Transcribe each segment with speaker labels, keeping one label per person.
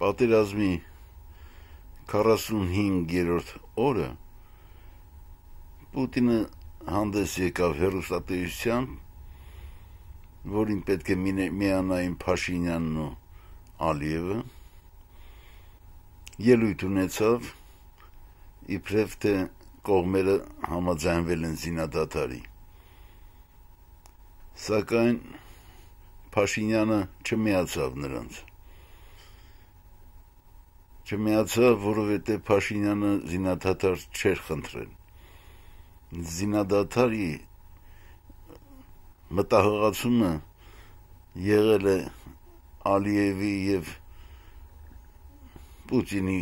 Speaker 1: պատերազմի 45-րդ օրը Պուտինը հանդես եկավ հեռուստատեսությամբ, որին պետք է միանային Փաշինյանն ու Ալիևը, ելույթ ունեցավ, իբրև թե կողմերը համաձայնվել են զինադադարի։ Սակայն Փաշինյանը չմիացավ նրանց։ Չմիացավ, որովհետև Փաշինյանը զինադադար չէր խնդրել։ Զինադադարի մտահղացումը եղել է Ալիևի եւ Պուտինի,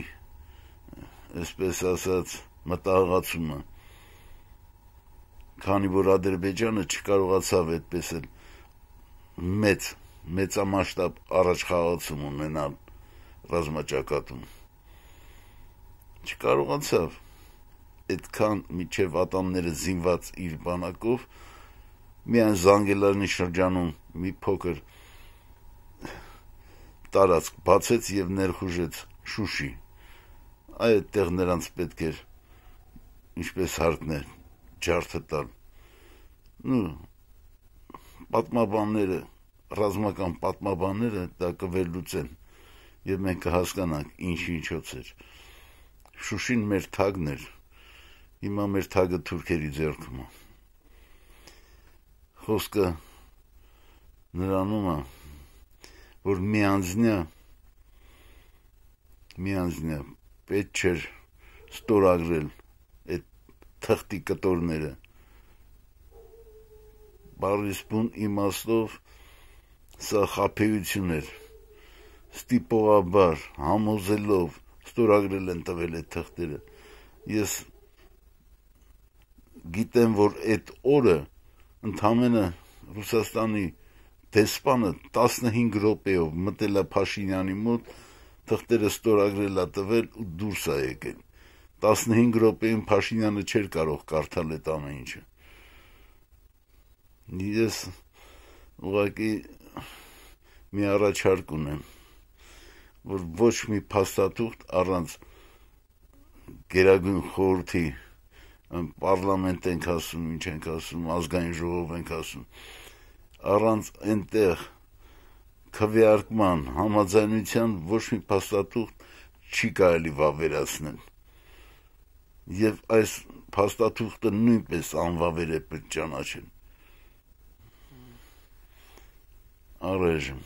Speaker 1: այսպես ասած, մտահղացումը, քանի որ Ադրբեջանը չկարողացավ այդպես էլ մեծամասշտաբ առաջխաղացում ունենալ ռազմաճակատում։ Չկարողացավ այդքան միջև ատամները զինված իր բանակով միայն Զանգելարանի շրջանում մի փոքր տարածք բացեց եւ ներխուժեց Շուշի։ Այդտեղ նրանց պետք էր, ինչպես հարկն է, ջարդը տալ։ Պատմաբանները, ռազմական պատմաբանները դա կվերլուծեն եւ մենք կհասկանանք ինչ էր։ Շուշին մեր թագն էր, հիմա մեր թագը թուրքերի ձեռքում է։ Խոսքը նրանում է, որ միանձնյա պետք չէր ստորագրել այդ թղթի կտորները։ Բառիսպուն իմաստով սա խաբեություն էր, ստիպողաբար, համոզելով ստորագրել են տվել այդ թղթերը։ Ես գիտեմ, որ այդ օրը ընդամենը Ռուսաստանի դեսպանը 15 րոպեով մտել է Փաշինյանի մոտ, թղթերը ստորագրել է տվել ու դուրս է եկել։ 15 րոպեում Փաշինյանը չէր կարող կարդալ այդ ամեն ինչը։ Ես ուղղակի մի առաջարկ ունեմ, որ ոչ մի փաստաթուղթ առանց Գերագույն խորհրդի, պարլամենտ ենք ասում, ինչ ենք ասում, ազգային ժողով ենք ասում, առանց այնտեղ քվեարկման, համաձայնության ոչ մի փաստաթուղթ չի կարելի վավերացնել։ Եվ այս փաստաթուղթը նույնպես անվավեր է պետք ճանաչել։ Առայժմ